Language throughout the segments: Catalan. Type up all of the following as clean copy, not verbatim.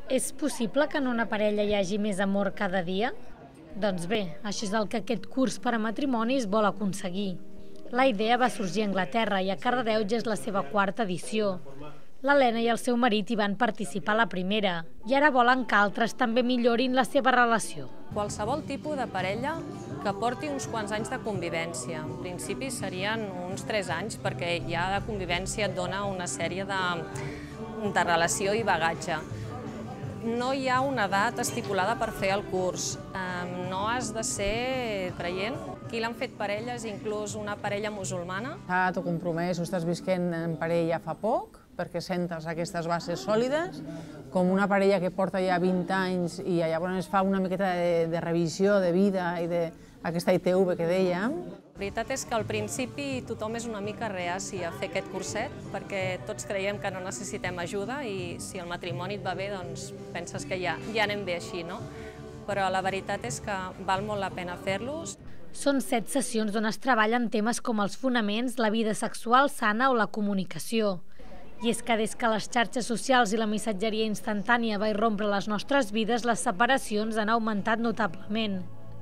És possible que en una parella hi hagi més amor cada dia? Doncs bé, això és el que aquest curs per a matrimonis vol aconseguir. La idea va sorgir a Anglaterra i a Cardedeu ja és la seva quarta edició. L'Helena i el seu marit hi van participar a la primera i ara volen que altres també millorin la seva relació. Qualsevol tipus de parella que porti uns quants anys de convivència. En principi serien uns 3 anys perquè ja de convivència et dona una sèrie de relació i bagatge. No hi ha una edat estipulada per fer el curs. No has de ser creient. Qui l'han fet parelles, inclús una parella musulmana. Tu compromès o estàs visquent en parella fa poc, perquè sentes aquestes bases sòlides, com una parella que porta ja 20 anys i llavors es fa una miqueta de revisió de vida i d'aquesta ITV que dèiem. La veritat és que al principi tothom és una mica reaci a fer aquest curset perquè tots creiem que no necessitem ajuda i si el matrimoni et va bé, doncs penses que ja anem bé així, no? Però la veritat és que val molt la pena fer-los. Són 7 sessions on es treballen temes com els fonaments, la vida sexual sana o la comunicació. I és que des que les xarxes socials i la missatgeria instantània va irrompre les nostres vides, les separacions han augmentat notablement.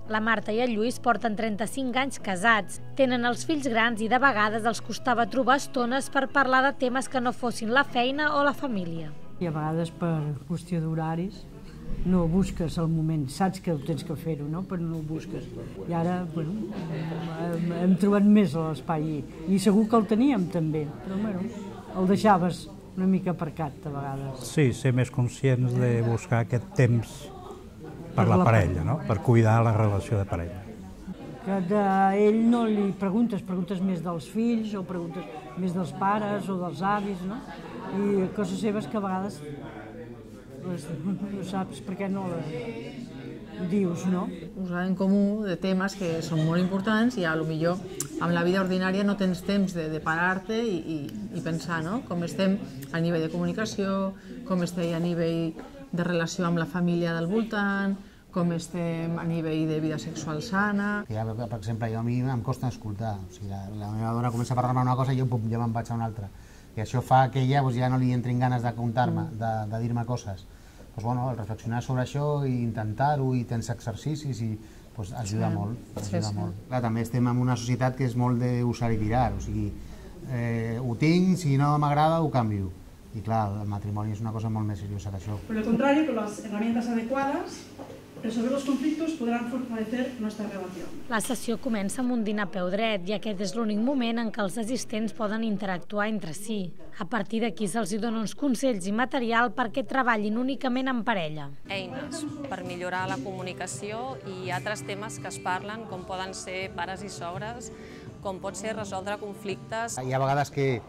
La Marta i el Lluís porten 35 anys casats, tenen els fills grans i de vegades els costava trobar estones per parlar de temes que no fossin la feina o la família. I a vegades per qüestió d'horaris no busques el moment, saps que tens que fer-ho, no? Però no ho busques. I ara, bueno, hem trobat més l'espai i segur que el teníem també, però bueno, el deixaves una mica aparcat a vegades. Sí, ser més conscients de buscar aquest temps per la parella, no? Per cuidar la relació de parella. Que d'ell no li preguntes més dels fills o preguntes més dels pares o dels avis, no? I coses seves que a vegades no saps per què no les dius, no? Posar en comú de temes que són molt importants i potser amb la vida ordinària no tens temps de parar-te i pensar, no? Com estem a nivell de comunicació, com estem a nivell de relació amb la família del voltant, com estem a nivell de vida sexual sana. Per exemple, a mi em costa escoltar. La meva dona comença a parlar-me una cosa i jo ja me'n vaig a una altra. I això fa que ella ja no li entrin ganes de contar-me, de dir-me coses. Doncs el reflexionar sobre això i intentar-ho i tens exercicis i ajuda molt. També estem en una societat que és molt d'usar i tirar, o sigui, ho tinc, si no m'agrada ho canvio. Y claro, el matrimonio es una cosa molt més seriosa que això. Por el contrario, con las herramientas adecuadas, resolver los conflictos podrán fortalecer nuestra relación. La sessió comença amb un dinar a peu dret i aquest és l'únic moment en què els assistents poden interactuar entre si. A partir d'aquí se'ls dona uns consells i material perquè treballin únicament en parella. Eines per millorar la comunicació i altres temes que es parlen, com poden ser pares i sogres, com pot ser resoldre conflictes. Hi ha vegades que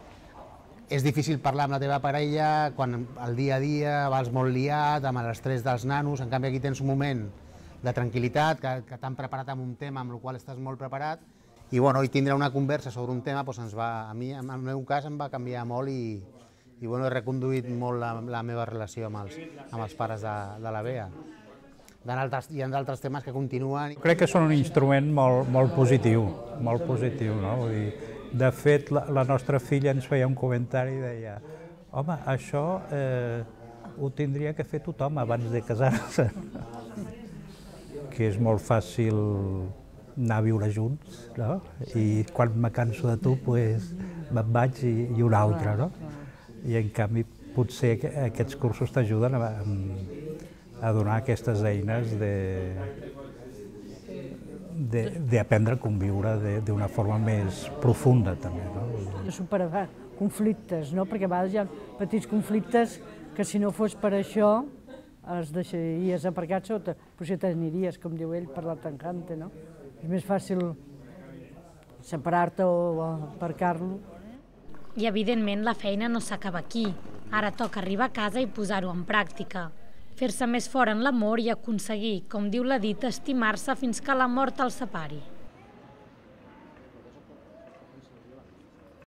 és difícil parlar amb la teva parella quan al dia a dia vas molt liat, amb l'estrès dels nanos, en canvi aquí tens un moment de tranquil·litat, que t'han preparat amb un tema amb el qual estàs molt preparat, i tindre una conversa sobre un tema, a mi, en el meu cas, em va canviar molt i he reconduït molt la meva relació amb els pares de la Bea. Hi ha d'altres temes que continuen. Crec que són un instrument molt positiu, no? Vull dir, de fet, la nostra filla ens feia un comentari i deia home, això ho tindria que fer tothom abans de casar-se. Que és molt fàcil anar a viure junts, no? I quan me canso de tu, me'n vaig i un altre, no? I en canvi, potser aquests cursos t'ajuden a donar aquestes eines d'aprendre a conviure d'una forma més profunda, també. Superar conflictes, perquè a vegades hi ha petits conflictes que si no fos per això els deixaries aparcats o potser t'aniries, com diu ell, per la tancante, no? És més fàcil separar-te o aparcar-lo. I evidentment la feina no s'acaba aquí. Ara toca arribar a casa i posar-ho en pràctica. Fer-se més fort en l'amor i aconseguir, com diu la dita, estimar-se fins que la mort els separi.